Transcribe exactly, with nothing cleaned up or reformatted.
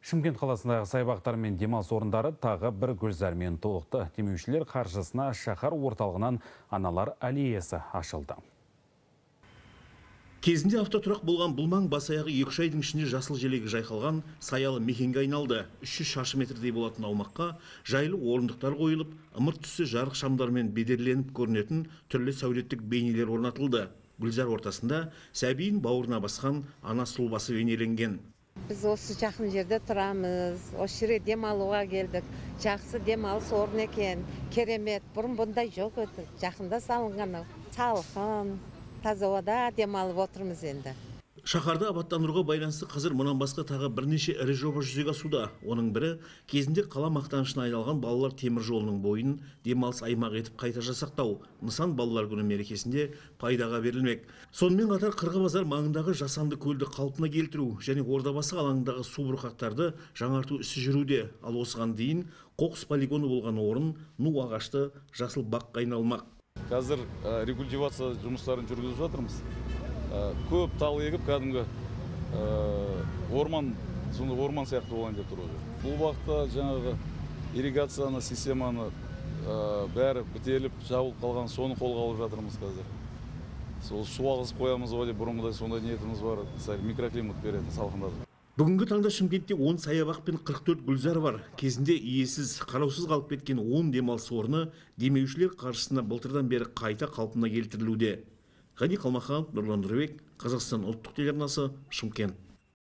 Шымкент қаласындағы саябақтар мен демалыс орындары тағы бір гүлзармен толықты. Демеушілер қаржысына шаһар орталығынан аналар аллеясы ашылды. Кезінде автотұрақ болған бұл маң бас аяғы екі үш айдың ішінде жасыл желегі жайқалған саялы мекенге айналды. үш жүз шаршы метрдей болатын аумаққа жайлы орындықтар қойылып, ымырт түсі жарық шамдармен бедерленіп көрінетін түрлі сәулеттік бейнелер орнатылды. Гүлзар ортасында сәбиін бауырына басқан ана сұлбасы бейнеленген. Біз осы жақын жерде тұрамыз, осы жерге демалуға келдік. Жақсы демалыс орын екен, керемет. Бұрын бұндай жоқ еді. Жақында салынған салқын, таза ауада демалып отырмыз енді. Шаһарды абаттандыруға байланысты қазір мұнан басқа тағы бірнеше ірі жоба жүзеге асуда. Оның бірі кезінде қала мақтанышына айналған балалар темір жолының бойын демалыс аймақ етіп қайта жасақтау. Нысан балалар күні мерекесінде пайдаға берілмек. Сонымен қатар Қырғыбазар маңындағы жасанды көлді қалпына келтіру және Ордабасы алаңындағы су бұрқақтарды жаңарту ісі жүруде. Ал осыған дейін қоқыс полигоны болған орын ну ағашты жасыл баққа айналмақ. Қазір рекультивация жұмыстарын жүргізіп жатырмыз. Көп тал егіп, кәдімгі орман, сонда орман сияқты болайын деп тұр. Бұл уақытта жаңағы ирригацияны, системаны бәрі бітеліп, жабылып қалған, соны қолға алып жатырмыз қазір. Сол су ағызып қоямыз ғой деп бұрынғыдай сондай ниетіміз бар, микроклимат береді, салқындатып. Бүгінгі таңда Шымкентте он саябақ пен қырық төрт гүлзар бар. Кезінде иесіз, қараусыз қалып кеткен он демалыс орны демеушілер қаржысына былтырдан бері қайта қалпына келтірілуде. Ғани Қалмаханов, Нұрлан Нұрбек, Қазақстан ұлттық телеарнасы, Шымкент.